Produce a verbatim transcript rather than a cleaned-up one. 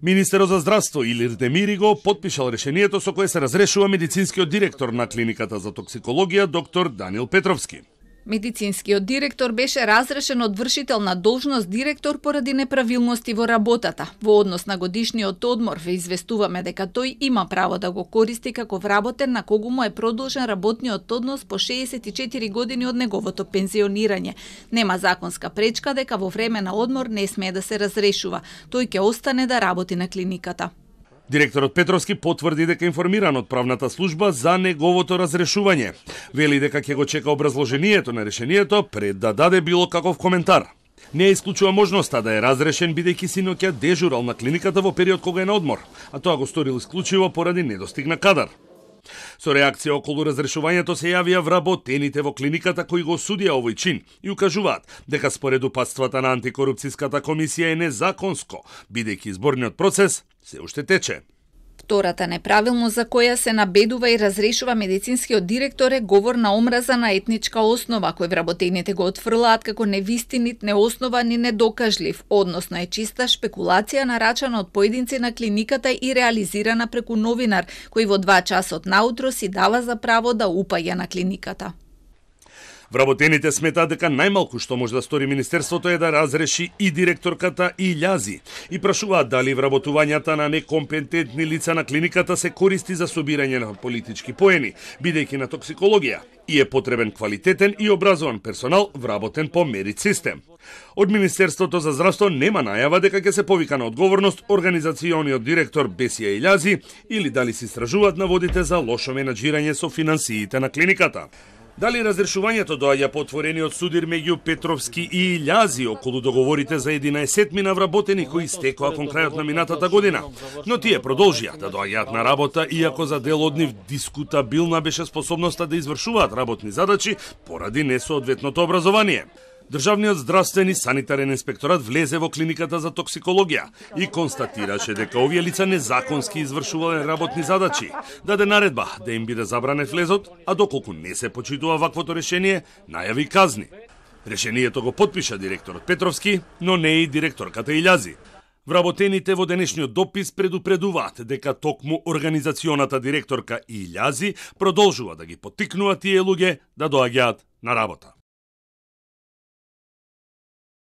Министерот за здравство Илир Демири го потпишал решението со кое се разрешува медицинскиот директор на клиниката за токсикологија доктор Даниел Петровски. Медицинскиот директор беше разрешен од вршител на должност директор поради неправилности во работата. Во однос на годишниот одмор ве известуваме дека тој има право да го користи како вработен на кого му е продолжен работниот однос по шеесет и четири години од неговото пензионирање. Нема законска пречка дека во време на одмор не смее да се разрешува. Тој ќе остане да работи на клиниката. Директорот Петровски потврди дека информиран од правната служба за неговото разрешување. Вели дека ќе го чека образложението на решението пред да даде било каков коментар. Не исклучува можноста да е разрешен бидејќи синоќа дежурал на клиниката во период кога е на одмор, а тоа го сторил исклучиво поради недостиг на кадар. Со реакција околу разрешувањето се јавија вработените во клиниката кои го осудија овој чин и укажуваат дека според упатствата на антикорупцијската комисија е незаконско, бидејќи изборниот процес се уште тече. Втората неправилност за која се набедува и разрешува медицинскиот директор е говор на омраза на етничка основа, кој вработените го отфрлаат како невистинит, неоснован и недокажлив, односно е чиста шпекулација нарачана од поединци на клиниката и реализирана преку новинар, кој во два часот наутро си дава за право да упаја на клиниката. Вработените сметаат дека најмалку што може да стори министерството е да разреши и директорката Илјази и прашуваат дали вработувањата на некомпетентни лица на клиниката се користи за собирање на политички поени, бидејќи на токсикологија и е потребен квалитетен и образован персонал вработен по мерит систем. Од Министерството за здравство нема најава дека ќе се повика на одговорност организациониот директор Бесија Илјази или дали се истражуваат наводите за лошо менаџирање со финансиите на клиниката. Дали разрешувањето доаѓа по отворениот судир меѓу Петровски и Илјази околу договорите за единаесет мина вработени кои стекоа кон крајот на минатата година, но тие продолжија да доаѓаат на работа иако за дел од нив дискутабилна беше способноста да извршуваат работни задачи поради несоодветното образование. Државниот здравствен и санитарен инспекторат влезе во клиниката за токсикологија и констатираше дека овие лица незаконски извршувале работни задачи, даде наредба да им биде забранет влезот, а доколку не се почитува ваквото решение, најави казни. Решението го потпиша директорот Петровски, но не и директорката Илјази. Вработените во денешниот допис предупредуваат дека токму организационата директорка Илјази продолжува да ги поттикнува тие луѓе да доаѓаат на работа.